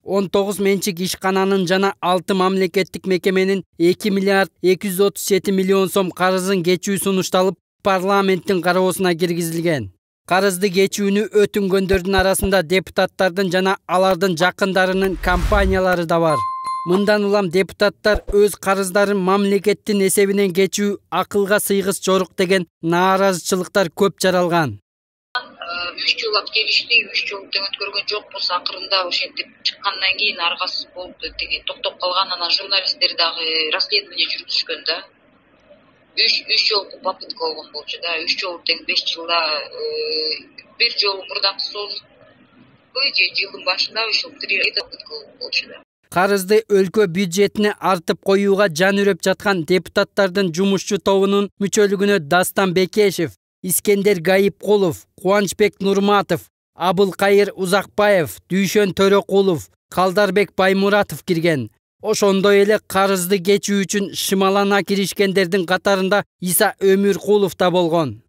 19 менчик ишкананын жана 6 мамлекеттик мекеменин 2 миллиард 237 миллион сом карызын кечүү сунушталып, парламенттин кароосуна киргизилген. Карызды кечүүнү өтүнгөндөрдүн арасында депутаттардын жана алардын жакындарынын компаниялары да бар. Мындан улам депутаттар өз карыздарын мамлекеттин эсебинен кечүү акылга сыйгыс жорук деген нааразычылыктар көп жаралган. 3 жыл келишти, 3 жыл тең өткөргөн жокпуз. Акырында ошентип чыккандан кийин аргасыз болуп токтоп калган. Анан журналисттер дагы расследование жүргүзүшкөн да. 3 жолку попытка болгон болчу да. 3 жол тең 5 жылда бир жол мурдакы созулбой же жылдын башында ошол 3 попытка болчу да. Карызды өлкө бюджетине артып коюуга жан үрөп жаткан депутаттардын жумушчу тобунун мүчөлүгүнө Дастан Бекешев, Искендер Гайипкулов, Кубанычбек Нурматов, Абылкайыр Узакбаев, Дүйшөн Төрөкулов, Калдарбек Баймуратов кирген. Ошондой эле карызды кечүү үчүн шымалана киришкендердин катарында Иса Өмүркулов да болгон.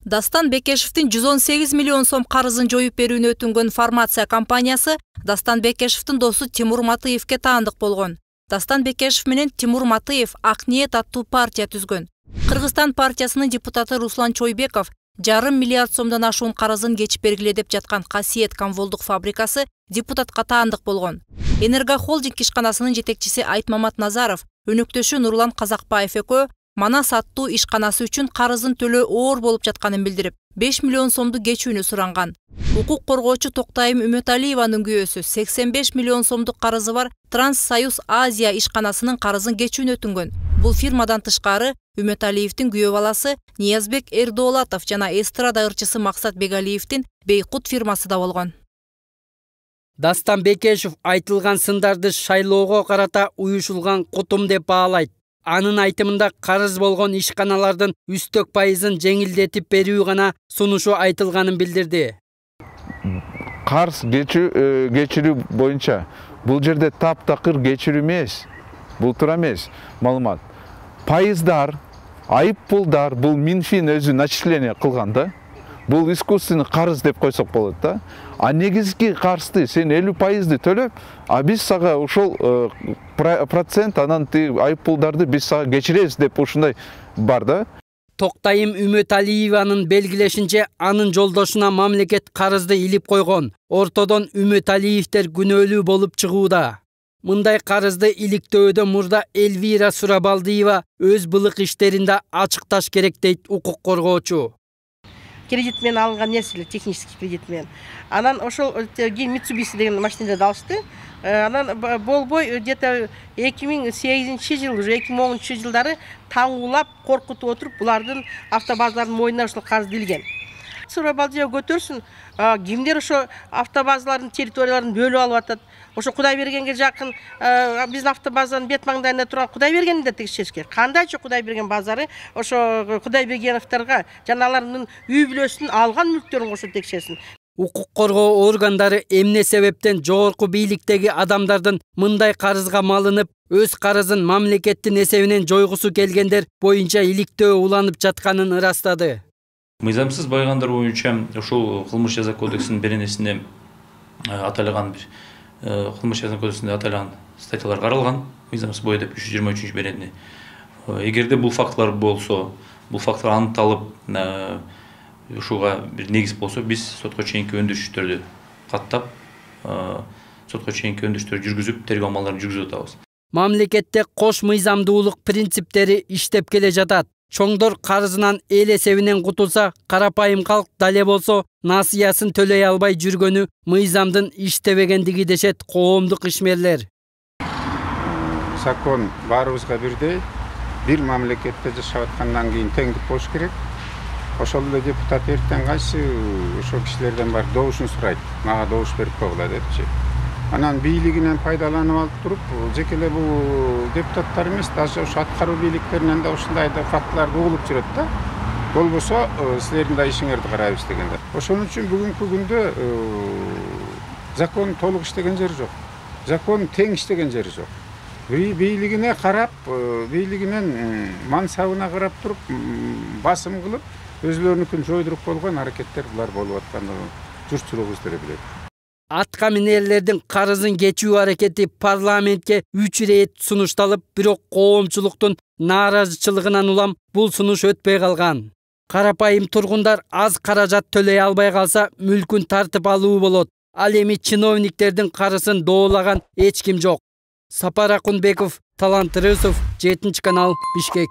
Дастан Бекешевдин 118 миллион сом карызын жоюп берүүнү өтүнгөн фармация компаниясы Дастан Бекешевдин досу Тимур Матыевке таандык болгон. Дастан Бекешев менен Тимур Матыев Ак ниет аттуу партия түзгөн. Кыргызстан партиясынын депутаты Руслан Чойбеков 1,5 миллиард сомдон ашуун карызын кечип бергиле деп жаткан Касиет комволдук фабрикасы депутатка таандык болгон. Энергохолдинг ишканасынын жетекчиси Айтмамат Назаров, өнөктөшү Нурлан Казакбаев экөө Манас аттуу ишканасы үчүн карызын төлөө оор болуп жатканын билдирип, 5 миллион сомду кечүүнү суранган. Укук коргоочу Токтайым Үмөталиеванын күйөөсү 85 миллион сомдук карызы бар Транссоюз Азия ишканасынын карызын кечүүнү өтүнгөн. Бул фирмадан тышкары Үмөталиевдин күйөө баласы Ниязбек Эрдоолатов жана эстрада ырчысы Максат Бегалиевдин Бейкут фирмасы да болгон. Дастан Бекешев айтылган сындарды шайлоого карата уюшулган кутум деп баалайт. Анын айтымында карыз болгон ишканалардын үстөк пайызын жеңилдетип берүү гана сунушу айтылганын билдирди. Карыз кечирүү боюнча бул жерде таптакыр кечирүү эмес, бул туура эмес маалымат. Пайыздар, айып пулдар бул Минфин өзү начисление кылган да. Бул искусственный карыз деп койсок болот да. А негизги карызды сен 50% төлөп, а биз сага ошол процент анан айып пулдарды биз сага кечиребиз деп ушундай бар да. Токтайым Үмөталиеванын белгилешинче, анын жолдошуна мамлекет карызды илип койгон. Ортодон Үмөталиевдер күнөөлүү болуп чыгууда. Мындай карызды иликтөөдө мурда Эльвира Сурабалдиева өз былык иштеринде ачыкташ керек дейт укук коргоочу. Кредит менен алынган нерселер, технический кредит менен. Анан ошол Mitsubishi деген машинада алышты. Анан болбой где-то 2008 жыл, уже 2010 жылдары таңуулап, коркутуп отуруп, булардын автобазалардын мойнуна ошол карыз илген. Сурабалдиева көтөрсүн, кимдер ошо автобазалардын территорияларын бөлүп алып атат. Ошо Кудайбергенге жакын биздин автобазанын бет маңдайында турган Кудайбергенди да текшериш керек. Кандайча Кудайберген базары ошо Кудайбергеновторго жана алардын үй бүлөсүнүн алган мүлктөрүн кошо текшерсин. Укук коргоо органдары эмне себептен жогорку бийликтеги адамдардын мындай карызга малынып, өз карызын мамлекеттин эсебинен жойгусу келгендер боюнча иликтөө уланып жатканын ырастады. Мыйзамсыз байгандар боюнча ошол кылмыш жаза кодексинин беренесинде аталган бир кылмыш жаза кодексинде аталган статьялар каралган. Мыйзамсыз бой деп 323 беренеси. Эгерде бул фактылар болсо, бул фактылар аныкталып, ушуга бир негиз болсо, биз сотко чейинки өндүрүштөрдү каттап, сотко чейинки өндүрүштөр жүргүзүп, тергөө амалдарын жүргүзүп атабыз. Мамлекетте кош мыйзамдуулук принциптери иштеп келе жатат. Чоңдор карызынан эл эсебинен кутулса, карапайым калк дале болсо насыясын төлөй албай жүргөнү мыйзамдын иштебегендиги дешет коомдук ишмерлер. Закон баарыбызга бирдей, бир мамлекетте жашап аткандан кийин теңдик болуш керек. Ошол эле депутат эртең кайсы ошол кишилерден бар добушун сурайт. Мага добуш берип койгула депчи. Анан бийлигинен пайдаланып алып туруп, жеке эле бул депутаттар эмес, даже ошо аткаруу бийликтеринен да ушундай да фактыларды угулуп жүрөт да. Болбосо силердин да ишиңерди карайбыз дегенде. Ошон үчүн бүгүнкү күндө закон толук иштеген жери жок. Закон тең иштеген жери жок. Бийлигине карап, бийлигинен мансабына карап туруп, басым кылып, өзлөрүнүкүн жойдуруп койгон аракеттер булар болуп аткандыгын журтчулук өздөрү билет. Атка минерлердин карызын кечүү аракети парламентке 3 ирет сунушталып, бирок коомчулуктун нааразычылыгынан улам бул сунуш өтпөй калган. Карапайым тургундар аз каражат төлөй албай калса мүлкүн тартып алуу болот. Ал эми чиновниктердин карысын доолаган эч ким жок. Сапар Акунбеков, Талант Рысов, 7 канал, Бишкек.